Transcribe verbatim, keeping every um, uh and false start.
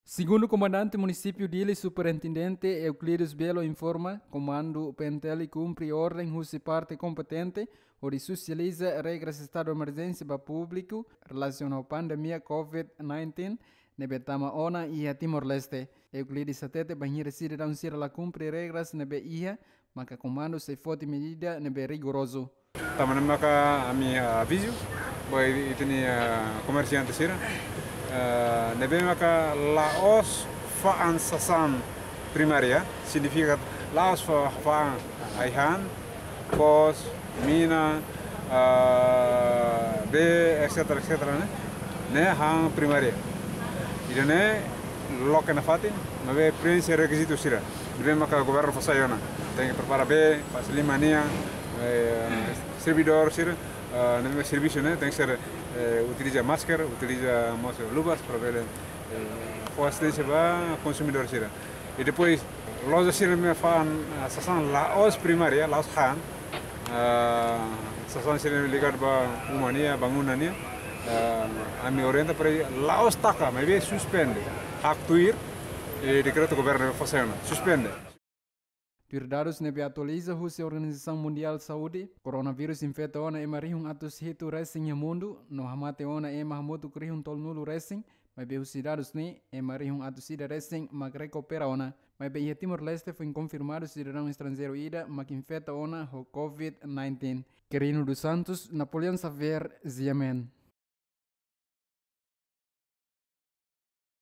Segundu Komandante Munisípiu Dili, Superintendente Euclides Belo informa, Komandu P N T L kumpre orden husi parte kompetente hodi sosializa regras estadu emerjénsia ba públiku relasiona ho pandemia covid nineteen ne'ebé tama ona iha Timor-Leste. Euclides hatete bainhira sidadaun sira la kumpre regras ne'ebé iha, maka komandu sei foti medida ne'ebé rigorozu. Tanba ne'e maka ami, ah, avizu ba ita-nia, ah, komersiante sira, ah, ne'ebé maka la'ós fa'an sasán primária, signifika la'ós fa-, fa'an ai-han, foos, mina, ah, bee, et cetera, et cetera, ne'e, ne'e han primária. Ida-ne'e loke nafatin, maibé preenxe rekizitu sira ne'ebé maka governu fó sai ona. Tenke prepara bee, fase liman nian, eh, servidór sira, ah, ne'ebé servisu ne'e, tenke ser, eh, utiliza masker, utiliza mós luvas para bele, eh, fó asisténsia ba konsumidór sira. I depois, loja sira ne'ebé fa'an, ah, sasán la'ós primária, la'ós han, ah, sasán sira ligadu ba uma nian, bangunan nian, ah, ami orienta para la'ós taka, maibé suspende. Haktuir, i dekretu governu fó sai ona, suspende. Tuir dadus ne'ebé atualiza husi Organizasaun Mundiál Saúde, koronavírus infeta ona ema rihun atus hitu resin iha mundu, no hamate ona ema hamutuk rihun tolunulu resin, maibé husi dadus ne'e, ema rihun atus ida resin mak rekupera ona. Maibé iha Timor-Leste foin konfirmadu sidadaun estranjeiru ida mak infeta ona ho covid nineteen. Quirino dos Santos, Napoleão Xavier, Xiamen.